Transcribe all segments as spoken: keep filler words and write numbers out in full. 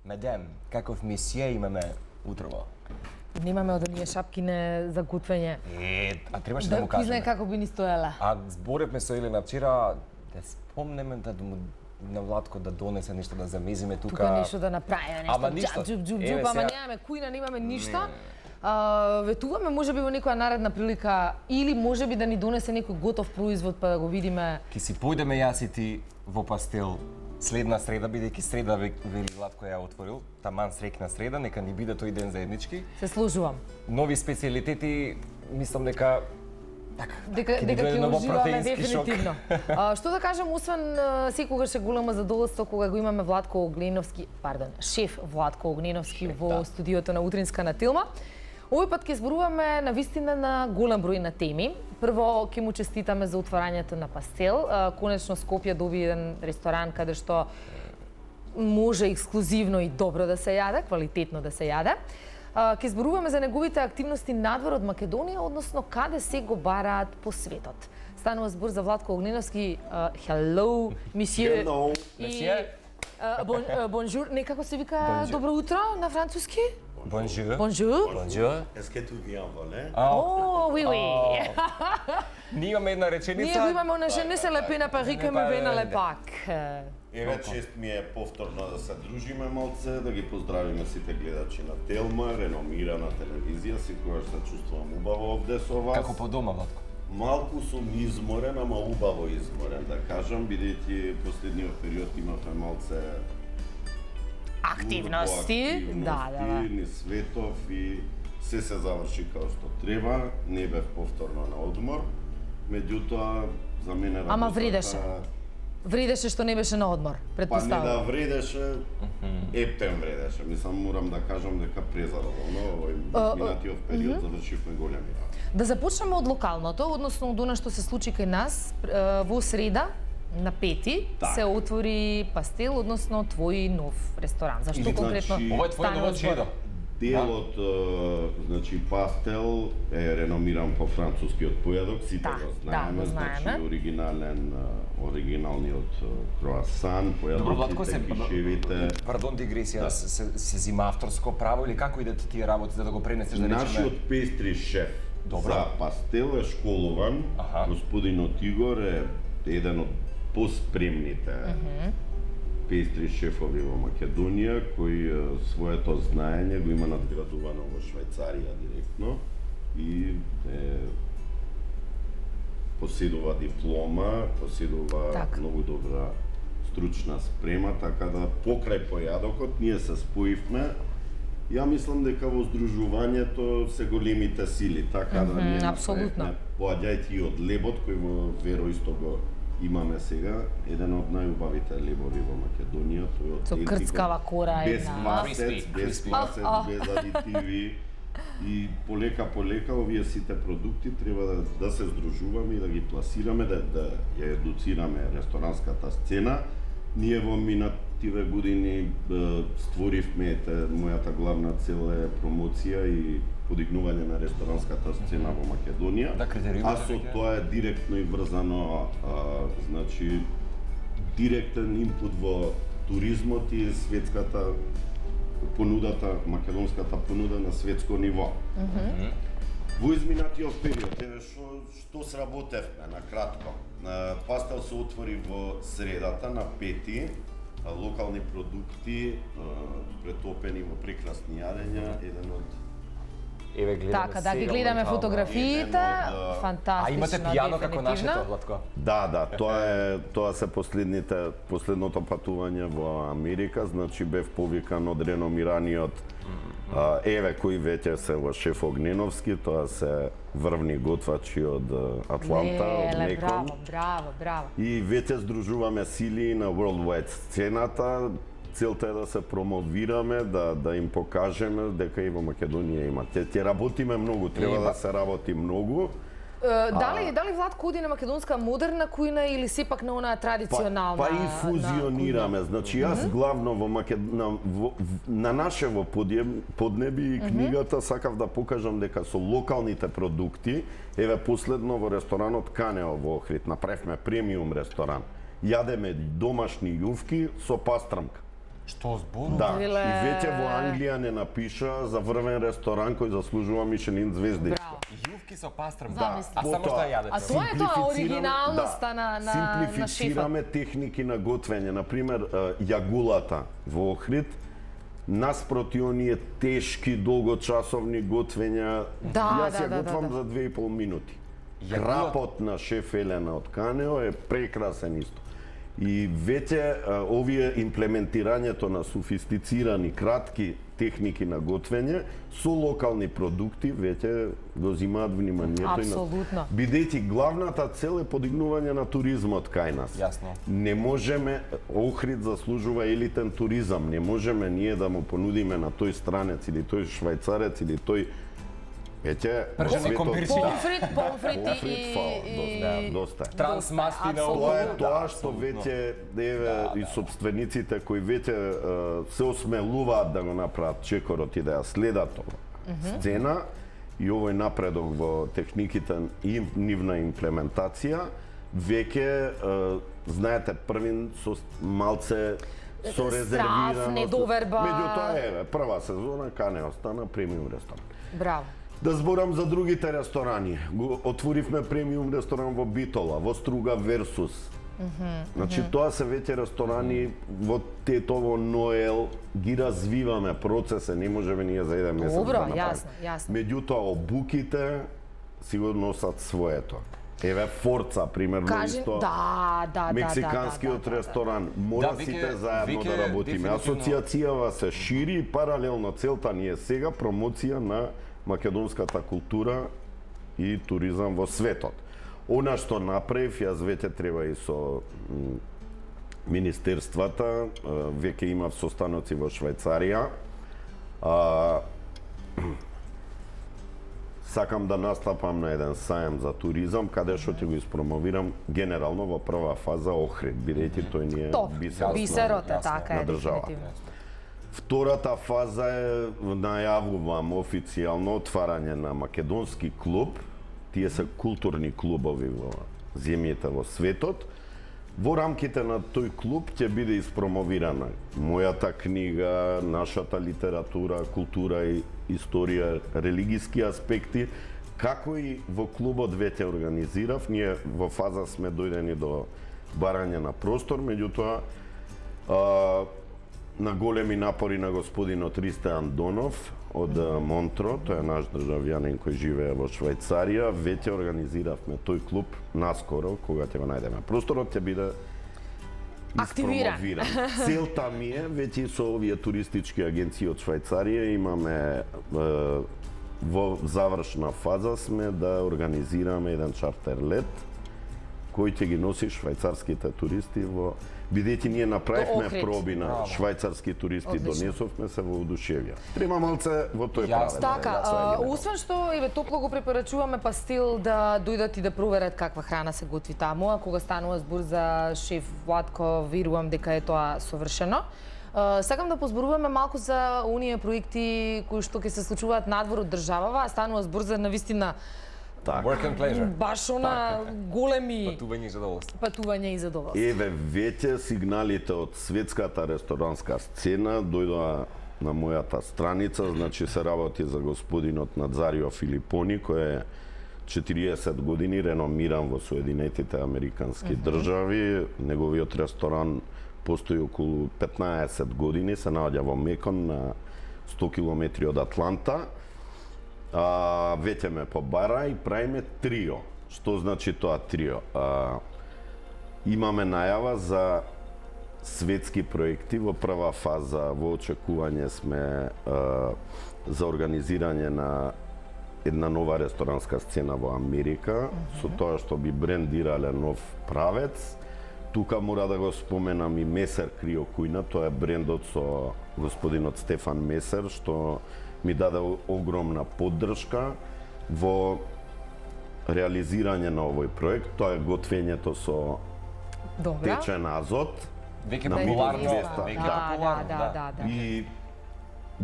Медем, каков месие имаме утрово? Немаме од оние шапкине за готвење. Е, а требаше да, да му кажеме. Да знае како би ни стоела. А зборевме со Елена вчера, да спомнеме да му на Владко да донесе нешто да замезиме тука. Тука нешто да направиме, нешто. Ама ништо. Джуп, джуп, джуп, ама немаме кујна, немаме ништо. А, ветуваме можеби во некоја наредна прилика или можеби да ни донесе некој готов производ па да го видиме. Ки си појдеме јас и ти во Пастел следна среда, бидејќи среда вели Владко ја отворил, таман срекна среда, нека ни биде тој ден заеднички. Се служувам. Нови специјалитети, мислам дека така, дека дека ќе уживаме дефинитивно. А, што да кажам, освен секогаш е големо задоволство кога го имаме Владко Огненовски, пардон, шеф Владко Огненовски шеф, во да. Студиото на Утринска на Телма. Овој пат ќе зборуваме на вистина на голем број на теми. Прво ќе му честитаме за отворањето на Пастел. Конечно Скопје доби еден ресторан каде што може ексклузивно и добро да се јаде, квалитетно да се јаде. Ќе зборуваме за неговите активности надвор од Македонија, односно каде се го бараат по светот. Станува збор за Владко Огненовски. Hello, monsieur. Hello, monsieur. Бонжур, некако се вика добро утро на француски? Bonjour. Bonjour. Bonjour. Est-ce que tout vient volé? Oh, oui, oui. Ние имаме една реченица. Ние го имаме она je ne se le paie na Paris que me ven à l'époque. Еве чест ми е повторно да се дружиме малце, да ги поздравиме сите гледачи на Телма, реномирана телевизија, секогаш се чувствувам убаво овде со вас. Како по дома, Владко? Малку сум изморен, ама убаво изморен, да кажам, бидејќи последниот период имавме малце активности, да, да, да. Ни светов и се се заврши како што треба, не бев повторно на одмор, меѓутоа за мене работата... Ама вредеше. Вредеше што не беше на одмор, предпоставувам. Па не да вредеше, ептен вредеше. Мислам, морам да кажам дека презадоволно овој минатиот период завршивме големи работи. Да започнеме од локалното, односно од она што се случи кај нас во среда, на пети так. Се отвори Пастел, односно твој нов ресторан. Зашто значи, конкретно ова е твој нов чедо? Делот, значи Пастел е реномиран по францускиот појадок, сите да, го знаеме, да, знаеме. Значи оригинален, оригиналниот круасан, појадоките, кишевите. Пардон, дигресија, да. се, се, се зима авторско право или како идат тие работи да го пренесеш да речеме? Нашиот пестри шеф Добро. За Пастел е школуван, аха. Господинот Игор е еден од поспремните uh-huh. пестри шефови во Македонија, кои своето знаење го има надградувано во Швајцарија директно и е, поседува диплома, поседува так. Многу добра стручна спрема, така да покрај појадокот ние се споивме. Ја мислам дека во здружувањето се големите сили, така mm-hmm, да ние апсолутно. Поаѓајќи и од лебот кој во Веро исто го имаме сега, еден од најубавите лебови во Македонија, тој од со крцкава кора без масец, без масец, без адитиви и полека полека овие сите продукти треба да, да се здружуваме и да ги пласираме, да, да ја едуцираме ресторанската сцена. Ние во минативе години створивме, мојата главна цел е промоција и подигнување на ресторанската сцена во Македонија. Да, а со тоа е директно и врзано, а, значи, директен инпут во туризмот и светската понудата, македонската понуда на светско ниво. Mm-hmm. Во изминатиот период, еве што што сработевме на кратко. Пастел се отвори во средата на пети, локални продукти претопени во прекрасни јадења, еден од Еве гледаме. Така, да ги гледаме фотографиите, од... фантастично. А имате пијано како нашето, Владко? Да, да, тоа е тоа се последните последното патување во Америка, значи бев повикан од реномираниот а, еве кој веќе се во шеф Огненовски, тоа се врвни готвачи од Атланта, Леле, од Мекон. Браво, браво, браво. И веќе здружуваме сили на Worldwide сцената. Целта е да се промовираме, да да им покажеме дека и во Македонија има. Те, те работиме многу, треба да се работи многу. Uh, дали, а... дали Владко оди на македонска модерна кујна или сепак на онаа традиционална? Па, па и фузионираме. Значи јас mm-hmm. главно во Макед... на, во, на нашево поднеби и книгата mm-hmm. сакав да покажам дека со локалните продукти, еве последно во ресторанот Канео во Охрид направивме премиум ресторан. Јадеме домашни јувки со пастрамка. Што зборува? Да, и веќе во Англија не напиша за врвен ресторан кој заслужува Мишелин звезди. Јувки со пастрам, да, а само што ја јадете. А тоа е тоа оригиналноста на на на шефот. Симплифицираме техники на готвење, на пример јагулата во Охрид, наспроти оние тешки долгочасовни готвења, да, јас ја да, готвам да, да. за две и пол минути. Крапот на шеф Елена од Канео е прекрасен исто. И веќе овие имплементирањето на софистицирани, кратки техники на готвење со локални продукти веќе го земаат вниманието. Апсолутно. Бидејќи главната цел е подигнување на туризмот кај нас. Јасно. Не можеме, Охрид заслужува елитен туризам, не можеме ние да му понудиме на тој странец или тој швајцарец или тој Ете, пржени комбирчиња. Помфрит, помфрит и доста. Трансмасти на Тоа е тоа што веќе еве и собствениците кои веќе се осмелуваат да го направат чекорот и да ја следат ова сцена и овој напредок во техниките и нивна имплементација, веќе знаете првин со малце со резервираност. недоверба. Меѓутоа еве прва сезона Канео стана премиум ресторан. Браво. Да зборам за другите ресторани. Го отворивме премиум ресторан во Битола, во Струга Версус. Mm -hmm, значи, mm -hmm. тоа се веќе ресторани во Тетово, Ноел, ги развиваме процесе, не можеме ние за еден месец Добро, да направиме. јасно, јасно. Меѓутоа, обуките сигурно носат своето. Еве Форца, примерно, Кажи, исто. Да, да, Мексиканскиот да, да, да, ресторан. Мора да, сите веќе, заедно веќе, да работиме. Асоциацијава се шири и паралелно целта ни е сега промоција на македонската култура и туризам во светот. Она што направив, јас веќе треба и со министерствата, веќе имав состаноци во Швајцарија. А, сакам да настапам на еден сајам за туризам, каде што ќе го испромовирам генерално во прва фаза Охрид, бидејќи тој ни е бисерот, бисерот на, е така на е државата. Втората фаза е, најавувам официјално отварање на македонски клуб. Тие се културни клубови во земјите во светот. Во рамките на тој клуб ќе биде испромовирана мојата книга, нашата литература, култура и историја, религиски аспекти, како и во клубот веќе организирав. Ние во фаза сме дојдени до барање на простор, меѓутоа на големи напори на господинот Ристе Андонов од Монтро, тој е наш државјанин кој живее во Швајцарија, веќе организиравме тој клуб наскоро, кога ќе го најдеме. Просторот ќе биде активиран. Целта ми е, веќе со овие туристички агенции од Швајцарија имаме е, во завршна фаза сме да организираме еден чартер лет кој ќе ги носи швајцарските туристи во бидејќи ние направивме проби на швајцарски туристи, донесовме се во удушевија. Треба малце во тој правец. Така, освен што еве топло го препорачуваме пастил да дојдат и да проверат каква храна се готви таму, а кога станува збор за шеф Владко, верувам дека е тоа совршено. Сакам да позборуваме малку за оние проекти кои што ќе се случуваат надвор од државава, станува збор за навистина Work and pleasure. Баш она големи патување и задоволство. Патување и задоволство. Еве веќе сигналите од светската ресторанска сцена дојдоа на мојата страница, значи се работи за господинот Надзарио Филипони кој е четириесет години реномиран во Соединетите Американски mm -hmm. држави. Неговиот ресторан постои околу петнаесет години, се наоѓа во Мекон на сто километри од Атланта. А, веќе ме побара и правиме трио. Што значи тоа трио? А, имаме најава за светски проекти. Во прва фаза во очекување сме а, за организирање на една нова ресторанска сцена во Америка, mm -hmm. со тоа што би брендирале нов правец. Тука мора да го споменам и Месер Крио Кујна, тоа е брендот со господинот Стефан Месер, што ми даде огромна поддршка во реализирање на овој проект. Тоа е готвењето со Добра. течен азот. Веќе популарно, веќе популарно, да, да, да. И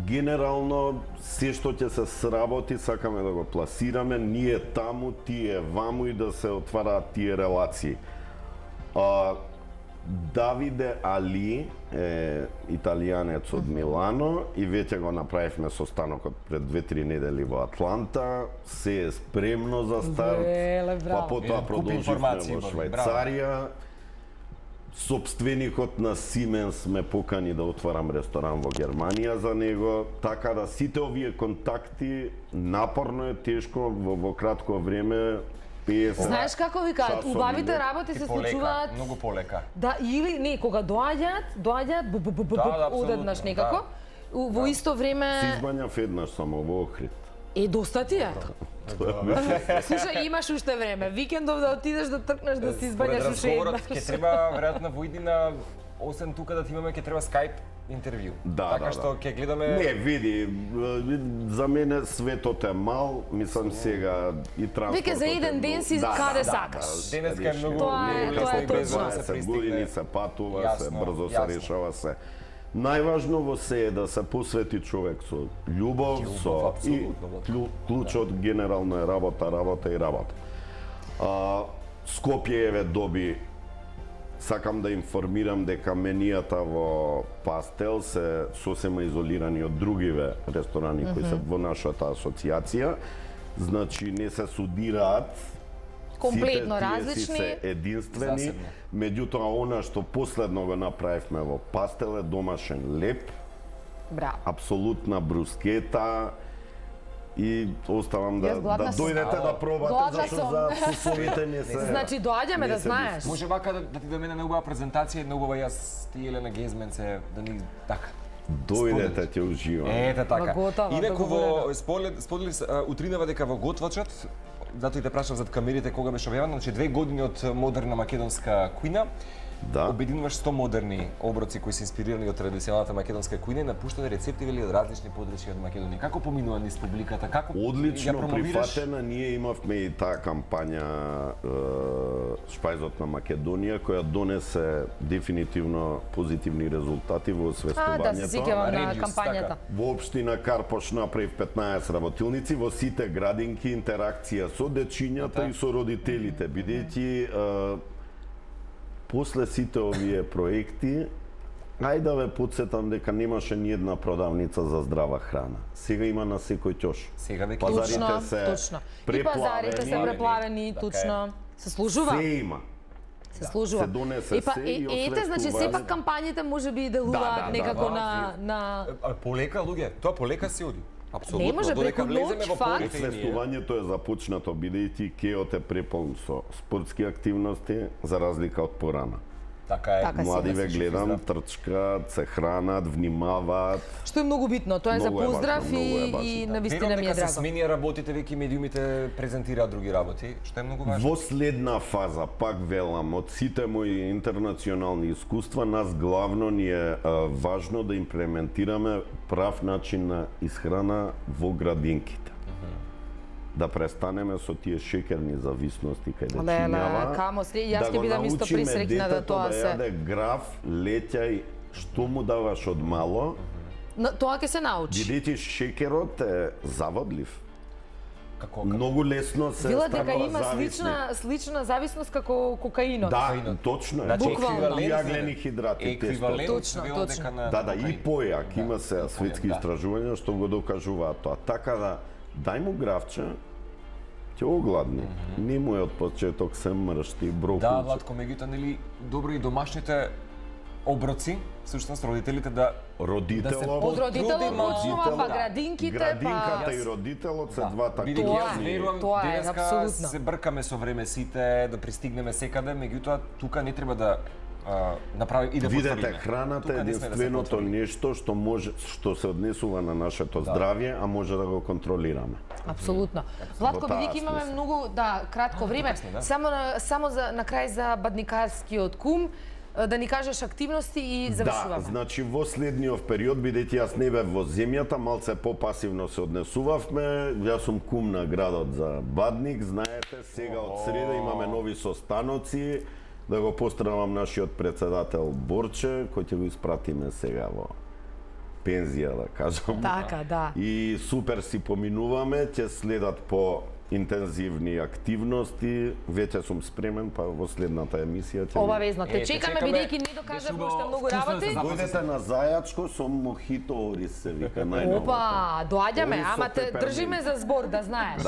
генерално се што ќе се сработи, сакаме да го пласираме, ние таму, тие ваму и да се отвараат тие релации. А, Давиде Али е италијанец од Милано и веќе го направивме состанокот пред две-три недели во Атланта. Се е спремно за старт. Веле, па потоа продолживме во Швајцарија. Собственикот на Сименс ме покани да отварам ресторан во Германија за него, така да сите овие контакти напорно е тешко во, во кратко време. песет Знаеш како ви кажат, убавите работи се случуваат многу полека. Да, или не, кога доаѓаат, доаѓаат бу бу бу бу одеднаш некако. Во исто време Се избањав еднаш само во Охрид. Е, доста ти е. Слушај, имаш уште време. Викендов да отидеш да тркнеш да си избањаш уште еднаш. Ќе треба веројатно во иднина, освен тука да ти имаме, ќе треба Skype интервју. Да, така да, што ќе гледаме. Не, види, за мене светот е мал, мислам сега и транспортот. Веќе за еден ден си каде сакаш. Денеска е многу Тоа е, тоа е точно. се години се патува, се брзо се решава се. Најважно во се е да се посвети човек со љубов, со и клучот генерално е работа, работа и работа. А, Скопје еве доби, сакам да информирам дека менијата во Пастел се сосема изолирани од другиве ресторани кои се во нашата асоциација. Значи не се судираат, комплетно сите различни, се единствени. Засебно. Меѓутоа, она што последно го направивме во Пастел е домашен леп, Браво. апсолутна брускета и оставам да, Јас да гладна сум. дојдете да пробате, Гладна зашто сум. за вкусовите не се... Значи доаѓаме не да се знаеш. Може вака да, да ти домене на убава презентација, една убава јас ти Елена Гезмен се да ни така. Дојдете, ќе уживам. Ете така. Ма готово, Инаку во договорено. сподели сподели утринава дека во готвачот, затоа и те прашав зад камерите кога беше објавено, значи две години од модерна македонска кујна. Да. Обединуваш сто модерни оброци кои се инспирирани од традиционалната македонска кујна и напуштени рецепти вели од различни подрачја од Македонија. Како поминува низ публиката? Како Одлично ја промовираш? прифатена, ние имавме и таа кампања е, Шпајзот на Македонија, која донесе дефинитивно позитивни резултати во А, освестувањето. да, се сеќавам на Региус, кампањата. така. Во општина Карпош направив петнаесет работилници, во сите градинки интеракција со дечињата и со родителите, бидејќи е, после сите овие проекти, ајде да ве подсетам дека немаше ни една продавница за здрава храна. Сега има на секој ќош. Сега веќе Пазарите Точно, се точно. И преплавени. пазарите се преплавени, Така е. точно. Се служува. Се има. Се служува. се донесе Епа, се е, и ете, значи освестува. сепак кампањите може би делуваат Да, да, некако да, на на А, полека луѓе, тоа полека си оди. Апсолутно. Не може, додека преку влеземе ноќ, во факт. полека и ние. Освестувањето е започнато бидејќи кеот е преполн со спортски активности за разлика од порана. Така е. Така си. Млади ве да се гледам, здрав. трчкат, се хранат, внимаваат. што е многу битно. Тоа е за Многу е поздрав важно, многу е и важно, и да. навистина Верувам ми е дека се драго. сменија работите, веќе медиумите презентираат други работи, што е многу важно. Во следна фаза, пак велам, од сите мои интернационални искуства, нас главно ни е а, важно да имплементираме прав начин на исхрана во градинките. Да престанеме со тие шекерни зависности кај Леле, дечињава. камо сре, јас ќе го бидам исто научиме присреќна да детето тоа да се. јаде граф, леќај, што му даваш од мало, Но, тоа ќе се научи. бидејќи шекерот е заводлив. Како Многу лесно се Велат дека станува има зависни. слична слична зависност како кокаинот. Да, точно е. Значи, Буквално. еквивалент за- Јаглени хидрати, еквивалент Точно, се велат точно. дека на Да, да, и кокаин. појак, има Да, се светски да. истражувања што го докажуваат тоа. Така да, дај му гравче, ќе огладни. Не му е од почеток се мршти, Да, брокулче. Владко, меѓутоа нели добро и домашните оброци, всушност родителите да Родителот, Од родителот Трудиме, почнува, па да. градинките, градинката па... и родителот се Да. двата Бидејќи Тоа јас е, верувам тоа е, денеска апсолутно. се бркаме со време сите да пристигнеме секаде, меѓутоа тука не треба да а, направи и да Видете, потврдиме. храната Тука е не сме да се единственото потврди. нешто што може што се однесува на нашето здравје, а може да го контролираме. Апсолутно. Владко, Во таа бидејќи имаме смисла. многу, да, кратко време, да. само на, само за на крај за бадникарскиот кум, да ни кажеш активности и завршуваме. Да, значи во следниот период, бидејќи јас не бев во земјата, малце попасивно се однесувавме. Јас сум кум на градот за Бадник, знаете, сега од среда имаме нови состаноци. Да го поздравам нашиот председател Борче, кој ќе го испратиме сега во пензија, да кажам. Така, да. И супер си поминуваме, ќе следат по интензивни активности, веќе сум спремен, па во следната емисија ќе... Обавезно, те чекаме, бидејќи не докажав уште многу работи. Дојдете на Зајачко со мохито орис, се вика, најновото. Опа, доаѓаме, ама те држиме за збор, да знаеш.